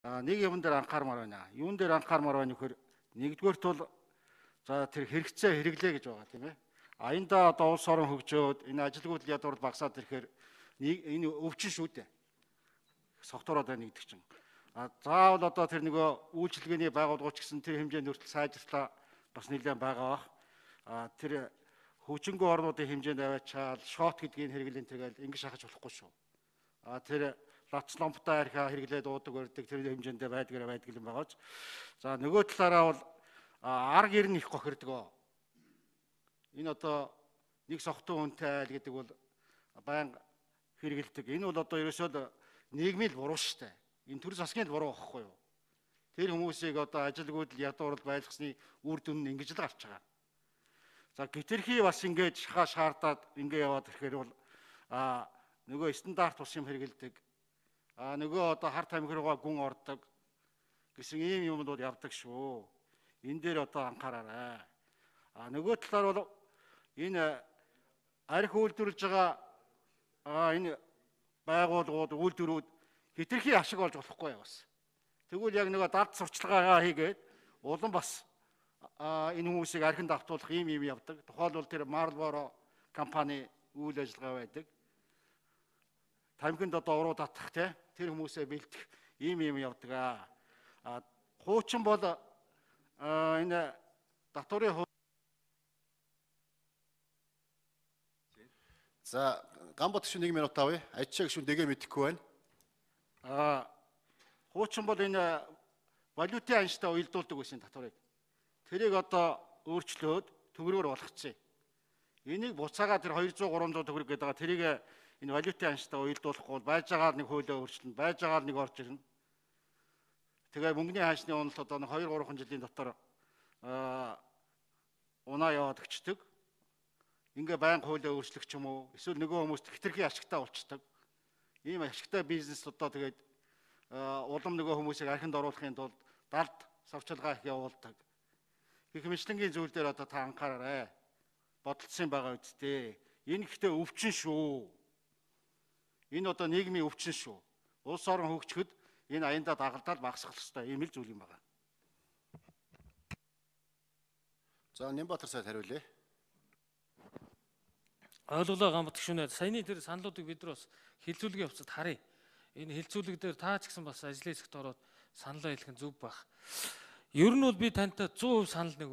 Нэг юм дээр анхаармаар байна. Юун дээр анхаармаар байна вөхөр нэгдүгээрт бол за тэр хэрэгцээ хэрэглээ гэж байгаа тийм ээ. Аяндаа одоо улс орон хөгжөөд энэ ажилгүйдэл ядуур багасаад ирэхээр энэ өвчин шүү дээ. Согтуураад байна гэдэг чинь. Заавал одоо тэр нөгөө үйлчилгээний байгууллагч гэсэн тэр хэмжээнд хүртэл сайжрлаа бас нэлээд байгаа бах. Тэр хөгжингөө орнуудын хэмжээнд аваачаал шот гэдгийг хэрэглэн тэгэл ингэ шахаж болохгүй шүү. Тэр лац ламптай архиа хэрэглээд уудаг өрдөг тэр хэмжээндээ байдаг юм байгаач. За нөгөө талаараа бол арга ирнэ их гохирдог. Энэ одоо нэг согтуу үнэтэй айл гэдэг бол баян хэрэгэлдэг. Энэ бол одоо ерөөсөө нийгмийн буруу шүү дээ. Энэ төр засгийн буруу байхгүй юу? Тэр хүмүүсийг одоо ажилгүйдэл ядуурл байлгасны үр дүн нь ингэж л гарч байгаа. За гитерхий бас ингэж шахаа шаардаад ингэ яваад ирэхээр бол нөгөө стандарт ус юм хэрэгэлдэг. Нөгөө одоо хар тамхи руугаа гүн ордог гэсэн ийм юмнууд явдаг шүү. Энэ дээр одоо анхаараарай. Нөгөө талаар бол энэ арх үйлдвэрлэж байгаа энэ байгууллагууд үйлдвэрүүд хитрхи ашиг олж болохгүй бас. Тэгвэл яг нөгөө далд сурчлагаагаа хийгээд улам бас энэ хүмүүсийг архинд автуулах ийм явдаг. Тухайлбал тэр Marlboro компани үйл ажиллагаа байдаг. Тамхинд одоо уруу татах тэр хүмүүсээ бэлдэх ийм явдаг. Хуучин бол энэ татварын За Гамбат гүшүүн 1 минут авъя. Ажчаа гүшүүн дэгээ мэдэхгүй байна. Хуучин бол энэ валютын анштай уялдуулдаг байсан татварыг. Тэрийг одоо өөрчлөөд төгрөгөөр болгоцсон. Энийг буцаага тэр 200-300 төгрөг гэдэг байгаа. Тэрийг энэ валютын анштай уялдуулахгүй бол байж байгаа нэг хуулиа өөрчлөнө, байж байгаа нэг орж ирнэ. Тэгээ мөнгөний хаашны уналт одоо 2-3 жилийн дотор унаа яваад өчтдөг. Ингээ байнга хуулиа өөрчлөх ч юм уу, эсвэл нөгөө хүмүүст хитрхи ашигтай болчдөг. Ийм ашигтай бизнес одоо тэгээд улам нөгөө хүмүүсийг архинд оруулахын тулд далд савчилгаа их явуулдаг. Гэх мэтлэнгийн зүйл дээр одоо та анхаараарай. Бодолцсон байгаа үсттэй. Энэ ихтэй өвчин шүү. Энэ одоо нийгмийн өвчин шүү. Улс орон хөгжөхөд энэ аяндаа дагалдаал багасгах хэрэгтэй. Ийм л зүйл юм байна. За Нямбатар сайд хариулъя. Ойлголоо Гамбат гүшүүнээ саяны тэр саналуудыг бид нар бас хилцүүлгийн хувьцад харъя. Энэ хилцүүлэг дээр та ч гэсэн бас ажлын хэсэгт ороод саналаа хэлэх нь зөв байх. Ер нь бол би тантай 100% санал нэг